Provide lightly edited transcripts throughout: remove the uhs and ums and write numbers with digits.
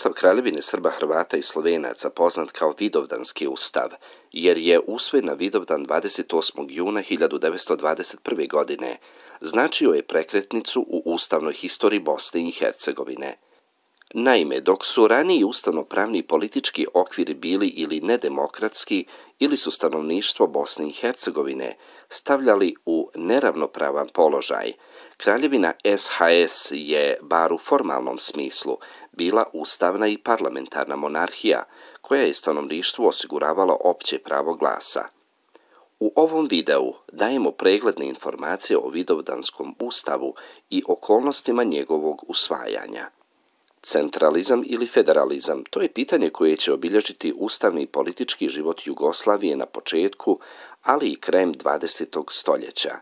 Ustav Kraljevine Srba, Hrvata i Slovenaca, poznat kao Vidovdanski ustav, jer je usvojen na Vidovdan 28. juna 1921. godine, značio je prekretnicu u ustavnoj historiji Bosne i Hercegovine. Naime, dok su raniji ustavno-pravni politički okviri bili ili nedemokratski, ili su stanovništvo Bosne i Hercegovine stavljali u neravnopravan položaj, Kraljevina SHS je, bar u formalnom smislu, bila ustavna i parlamentarna monarhija, koja je stanovništvu osiguravala opće pravo glasa. U ovom videu dajemo pregledne informacije o Vidovdanskom ustavu i okolnostima njegovog usvajanja. Centralizam ili federalizam, to je pitanje koje će obilježiti ustavni i politički život Jugoslavije na početku, ali i krajem 20. stoljeća.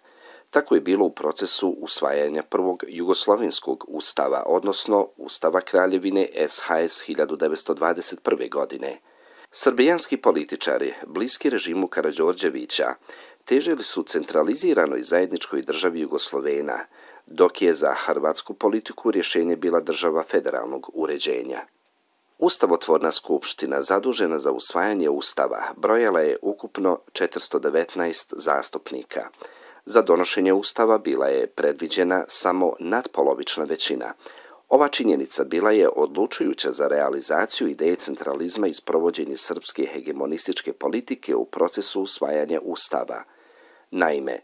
Tako je bilo u procesu usvajanja prvog jugoslovenskog ustava, odnosno Ustava Kraljevine SHS 1921. godine. Srbijanski političari, bliski režimu Karađorđevića, težili su centraliziranoj zajedničkoj državi Jugoslovena, dok je za hrvatsku politiku rješenje bila država federalnog uređenja. Ustavotvorna skupština, zadužena za usvajanje ustava, brojala je ukupno 419 zastupnika. Za donošenje ustava bila je predviđena samo natpolovična većina. Ova činjenica bila je odlučujuća za realizaciju ideje centralizma i sprovođenje srpske hegemonističke politike u procesu usvajanja ustava. Naime,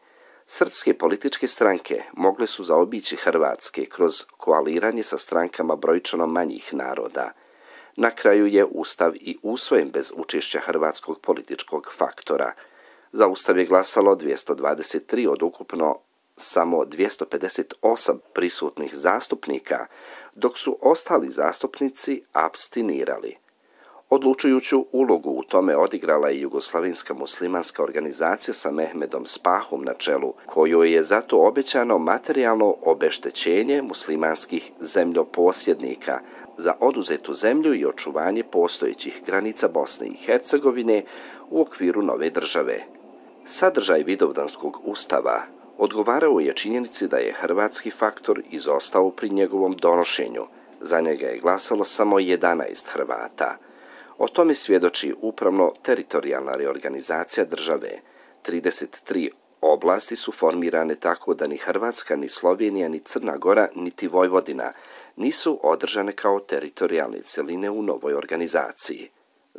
srpske političke stranke mogle su zaobići hrvatske kroz koaliranje sa strankama brojčano manjih naroda. Na kraju je ustav i usvojen bez učešća hrvatskog političkog faktora. Za ustav je glasalo 223 od ukupno samo 258 prisutnih zastupnika, dok su ostali zastupnici apstinirali. Odlučujuću ulogu u tome odigrala je Jugoslavenska muslimanska organizacija sa Mehmedom Spahom na čelu, kojoj je zato obećano materijalno obeštećenje muslimanskih zemljoposjednika za oduzetu zemlju i očuvanje postojećih granica Bosne i Hercegovine u okviru nove države. Sadržaj Vidovdanskog ustava odgovarao je činjenici da je hrvatski faktor izostao pri njegovom donošenju. Za njega je glasalo samo 11 Hrvata. O tome svjedoči upravno-teritorijalna reorganizacija države. 33 oblasti su formirane tako da ni Hrvatska, ni Slovenija, ni Crna Gora, niti Vojvodina nisu održane kao teritorijalne cjeline u novoj organizaciji.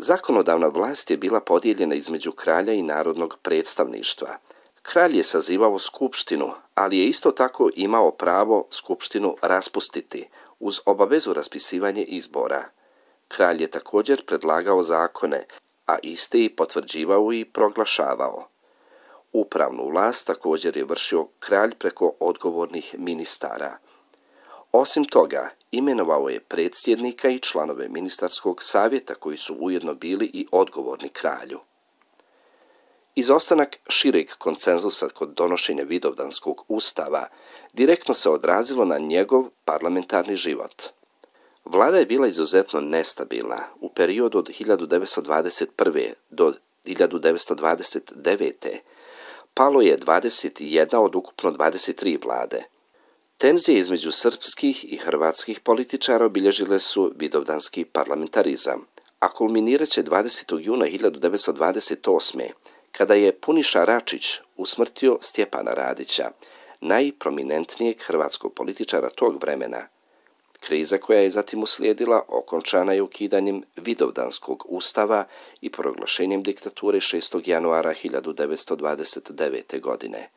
Zakonodavna vlast je bila podijeljena između kralja i narodnog predstavništva. Kralj je sazivao skupštinu, ali je isto tako imao pravo skupštinu raspustiti, uz obavezu raspisivanja izbora. Kralj je također predlagao zakone, a iste i potvrđivao i proglašavao. Upravnu vlast također je vršio kralj preko odgovornih ministara. Osim toga, imenovao je predsjednika i članove ministarskog savjeta koji su ujedno bili i odgovorni kralju. Izostanak šireg konsenzusa kod donošenja Vidovdanskog ustava direktno se odrazilo na njegov parlamentarni život. Vlada je bila izuzetno nestabilna. U periodu od 1921. do 1929. palo je 21 od ukupno 23 vlade. Tenzije između srpskih i hrvatskih političara obilježile su vidovdanski parlamentarizam, a kulminirat će 20. juna 1928. kada je Puniša Račić usmrtio Stjepana Radića, najprominentnijeg hrvatskog političara tog vremena. Kriza koja je zatim uslijedila okončana je ukidanjem Vidovdanskog ustava i proglašenjem diktature 6. januara 1929. godine.